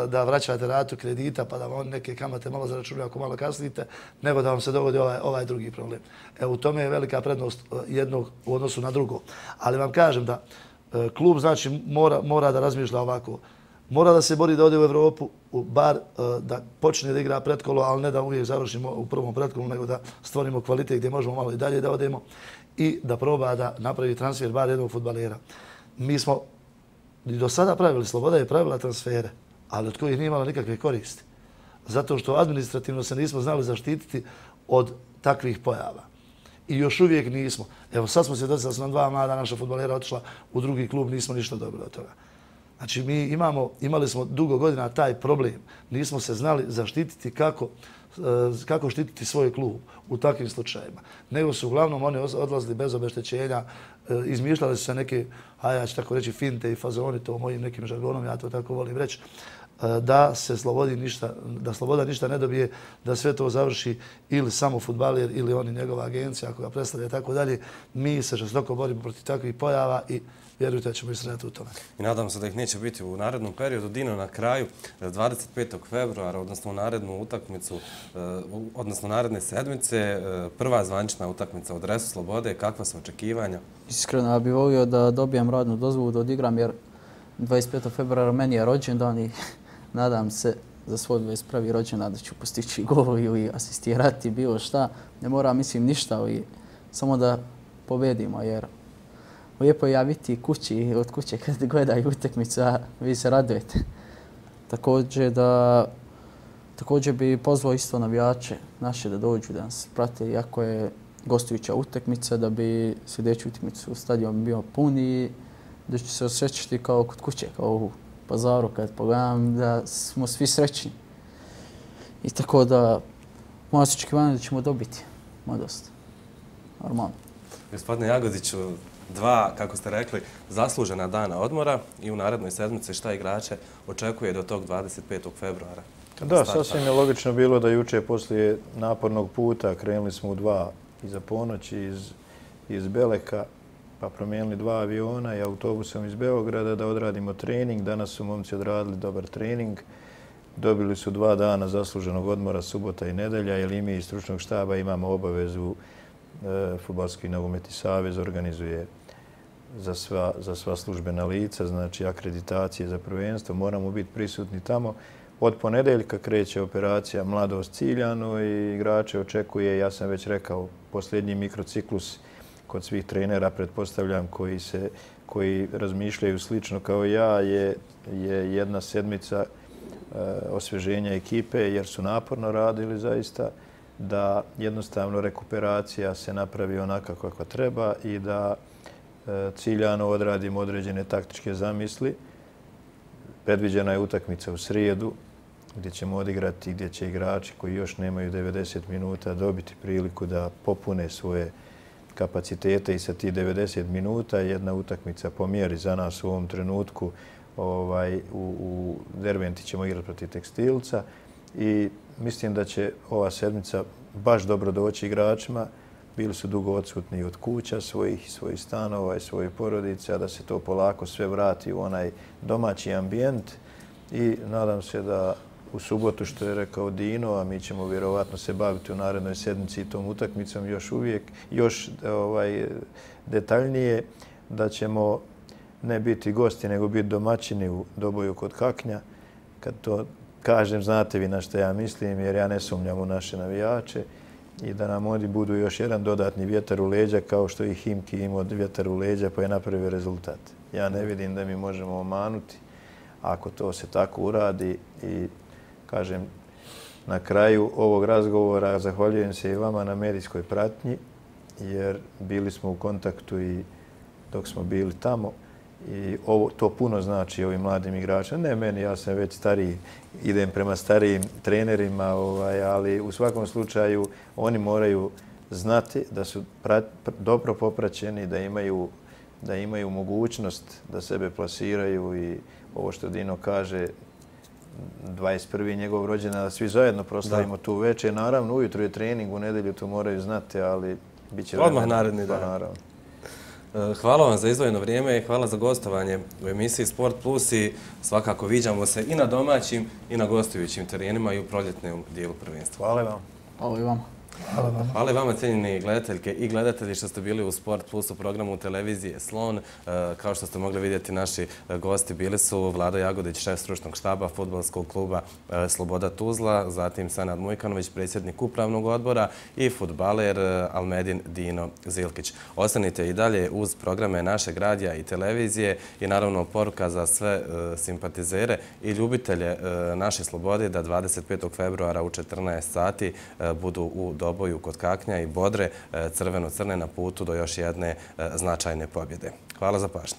[SPEAKER 3] da vraćate ratu kredita pa da vam neke kamate malo zaračunaju ako malo kasnite, nego da vam se dogodi ovaj, ovaj drugi problem. Evo, u tome je velika prednost jednog u odnosu na drugo. Ali vam kažem da klub znači mora, mora da razmišlja ovako. Mora da se bori da ode u Evropu, bar da počne da igra pretkolo, ali ne da uvijek završimo u prvom pretkolu, nego da stvorimo kvalitet gdje možemo malo i dalje da odemo i da proba da napravi transfer bar jednog fudbalera. Mi smo i do sada pravili, Sloboda je pravila transfere, ali od kojih nije imala nikakve koristi. Zato što administrativno se nismo znali zaštititi od takvih pojava. I još uvijek nismo. Evo sad smo svjedoci da su nam dva mlada naša fudbalera otišla u drugi klub, nismo ništa dobili od toga. Znači mi imamo, imali smo dugo godina taj problem. Nismo se znali zaštititi kako, kako štititi svoj klub u takvim slučajima. Nego su uglavnom oni odlazili bez obeštećenja, izmišljali su se neke, a ja ću tako reći, finte i fazoni, to mojim nekim žargonom, ja to tako volim reći, da se slobodi ništa, da Sloboda ništa ne dobije, da sve to završi ili samo fudbaler ili oni njegova agencija ako ga predstavlja i tako dalje. Mi se žestoko borimo protiv takvih pojava i vjerujte da ćemo istrajati u tome.
[SPEAKER 1] I nadam se da ih neće biti u narednom periodu. Dino, na kraju, dvadeset petog februara, odnosno u narednu utakmicu, odnosno naredne sedmice, prva zvanična utakmica u dresu Slobode. Kakva su očekivanja?
[SPEAKER 4] Iskreno, ja bih volio da dobijem radnu dozvolu da odigram, jer dvadeset petog februara meni je rođendan i nadam se za svoj dvadeset prvi rođendan da ću postići gol ili asistirati bilo šta. Ne moram, mislim, ništa, i samo da pobedimo, jer lijepo je ja biti kući, od kuće kad gledaju utakmicu, a vi se radujete. Također da također bi pozvao isto navijače naše da dođu da nas prate, iako je gostujuća utakmica, da bi sljedeću utakmicu stadion bio pun i da ću se osjećati kao kod kuće, kao u Pazaru kad pogledam, da smo svi srećni. I tako da moja se očekivanja da ćemo dobiti, moja dosta. Normalno.
[SPEAKER 1] Gospodine Jagodiću, dva, kako ste rekli, zaslužena dana odmora i u narednoj sedmici šta igrače očekuje do tog dvadeset petog februara?
[SPEAKER 2] Da, sasvim je logično bilo da juče poslije napornog puta krenuli smo u dva iza ponoći iz, iz Beleka, pa promijenili dva aviona i autobusom iz Beograda da odradimo trening. Danas su momci odradili dobar trening. Dobili su dva dana zasluženog odmora, subota i nedelja, jer i mi iz stručnog štaba imamo obavezu, e, Fudbalski nogometni savez organizuje za sva, za sva službena lica, znači akreditacije za prvenstvo. Moramo biti prisutni tamo. Od ponedeljka kreće operacija Mladost Ciljano i igrače očekuje, ja sam već rekao, posljednji mikrociklus kod svih trenera, pretpostavljam, koji, se, koji razmišljaju slično kao ja, je, je jedna sedmica e, osvježenja ekipe, jer su naporno radili zaista, da jednostavno rekuperacija se napravi onaka kakva treba i da e, ciljano odradimo određene taktičke zamisli. Predviđena je utakmica u srijedu, gdje ćemo odigrati, gdje će igrači koji još nemaju devedeset minuta dobiti priliku da popune svoje kapacitete i sa ti devedeset minuta. Jedna utakmica po mjeri za nas u ovom trenutku. Ovaj, u, u Derventi ćemo igrati protiv Tekstilca i mislim da će ova sedmica baš dobro doći igračima. Bili su dugo odsutni od kuća svojih, svojih stanova i svojih porodica, da se to polako sve vrati u onaj domaći ambijent i nadam se da u subotu, što je rekao Dino, a mi ćemo vjerovatno se baviti u narednoj sedmici tom utakmicom još uvijek, još ovaj, detaljnije, da ćemo ne biti gosti, nego biti domaćini u Doboju kod Kaknja. Kad to kažem, znate vi na što ja mislim, jer ja ne sumnjam u naše navijače i da nam oni budu još jedan dodatni vjetar u leđa, kao što i Himki imao vjetar u leđa pa je napravio rezultat. Ja ne vidim da mi možemo omanuti ako to se tako uradi i kažem, na kraju ovog razgovora zahvaljujem se i vama na medijskoj pratnji, jer bili smo u kontaktu i dok smo bili tamo i ovo, to puno znači ovim mladim igračima. Ne meni, ja sam već stariji, idem prema starijim trenerima, ovaj, ali u svakom slučaju oni moraju znati da su prat, dobro popraćeni, da imaju, da imaju mogućnost da sebe plasiraju i ovo što Dino kaže, dvadeset prvi njegov rođendan, da svi zajedno proslavimo tu večer. Naravno, ujutro je trening, u nedelju to moraju znati, ali bit će
[SPEAKER 1] odmah naredni dan. Naravno. Hvala vam za izdvojeno vrijeme i hvala za gostovanje u emisiji Sport Plus i svakako viđamo se i na domaćim i na gostujućim terenima i u proljetnom dijelu prvenstva.
[SPEAKER 2] Hvala vam.
[SPEAKER 4] Hvala i vama.
[SPEAKER 3] Hvala vam.
[SPEAKER 1] Hvala i vama, cijenjeni gledateljke i gledatelji, što ste bili u Sport Plus u programu televizije Slon. Kao što ste mogli vidjeti, naši gosti bili su Vlado Jagodić, šef stručnog štaba fudbalskog kluba Sloboda Tuzla, zatim Senad Mujkanović, predsjednik upravnog odbora i fudbaler Almedin Dino Zilkić. Ostanite i dalje uz programe našeg radija i televizije i naravno poruka za sve simpatizere i ljubitelje naše Slobode da dvadeset petog februara u četrnaest sati budu u Doboju kod Kaknja i bodre crveno-crne na putu do još jedne značajne pobjede. Hvala za pažnju.